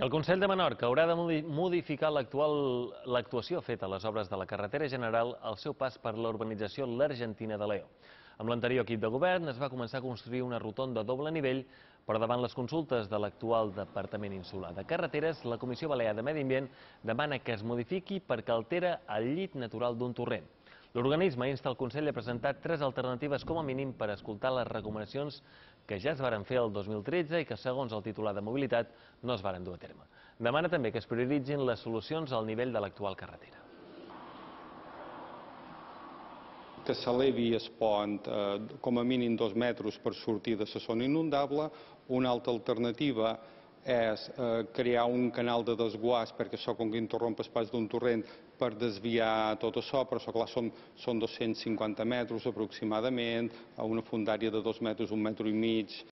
El Consell de Menorca haurà de modificar l'actuació feta a les obres de la carretera general al seu pas per la urbanització l'Argentina de Leó. Amb l'anterior equip de govern es va començar a construir una rotonda a doble nivell, però davant les consultes de l'actual Departament Insular de Carreteres, la Comissió Balear de Medi Ambient demana que es modifiqui perquè altera el llit natural d'un torrent. L'organisme insta el Consell a presentar 3 alternatives com a mínim per escoltar les recomanacions que ja es varen fer el 2013 i que, segons el titular de Mobilitat, no es varen dur a terme. Demana també que es prioritzin les solucions al nivell de l'actual carretera. Que s'elevi el pont com a mínim 2 metres per sortir de la zona inundable. Una altra alternativa és crear un canal de desguàs, perquè això, com que interromp el pas d'un torrent, per desviar tot això, però això, clar, són 250 metres aproximadament, a una fondària de 2 metres, 1,5 metres